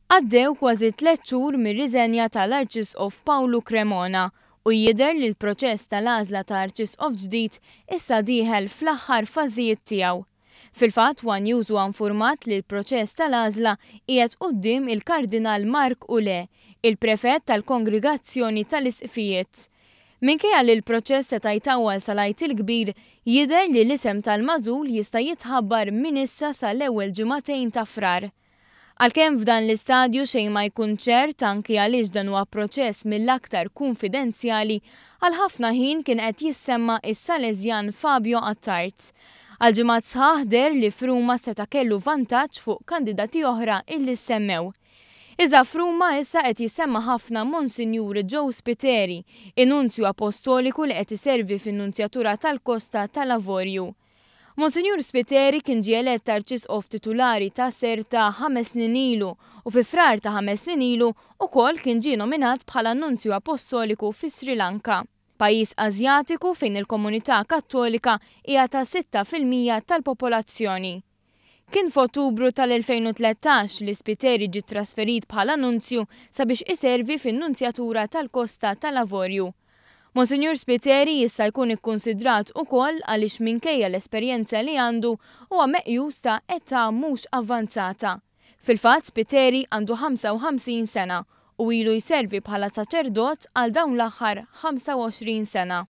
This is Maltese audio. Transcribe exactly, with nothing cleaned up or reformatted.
Għaddew kważi tliet xhur mir-riżenja tal-Arċisqof Pawlu Cremona u jidher li l-proċess tal-għażla ta' Arċisqof ġdid issa dieħel fl-aħħar fażijiet tiegħu. Fil-fatt, One News huwa infurmat li l-proċess tal-għażla qiegħed quddiem il-Kardinal Marc Ouellet, il-prefett tal-Kongregazzjoni tal-Isqfijiet. Minkejja li l-proċess seta' jtawwal sal-Għid il-Kbir, jidher li l-isem tal-magħżul jista' jitħabbar minn issa sal-ewwel ġimagħtejn ta' Frar. Għalkemm f'dan l-istadju xejn ma jkun ċert, anki għaliex dan huwa proċess mill-aktar kunfidenzjali, għal ħafna ħin kien qed jissemma is-Salesjan Fabio Attard. Għal ġimgħat sħaħ deher li f'Ruma seta' kellu vantaġġ fuq kandidati oħra illi semmew. Iżda f'Ruma issa qed jissemma ħafna Monsinjur Joe Spiteri, in-nunzju apostoliku li qed iservi fin-nunzjatura tal-Kosta tal-Avorju. Monsinjur Spiteri kien ġie elett arċisqof titulari ta' Serta ħames snin ilu u fi Frar ta' ħames snin ilu ukoll kien ġie nominat bħala nunzju apostoliku fi Sri Lanka, pajjiż Asjatiku fejn il-komunità Kattolika hija ta' sitta fil-mija tal-popolazzjoni. Kien f'Ottubru tal-elfejn u tlettax li Spiteri ġie trasferit bħala nunzju sabiex iservi fin-nunzjatura tal-Kosta tal-Avorju. Monsinjur Spiteri jista' jkun ikkunsidrat ukoll għaliex minkejja l-esperjenza li għandu huwa meqjus ta' età mhux avvanzata. Fil-fatt, Spiteri għandu ħamsa u ħamsin sena u ilu jservi bħala saċerdot għal dawn l-aħħar ħamsa u għoxrin sena.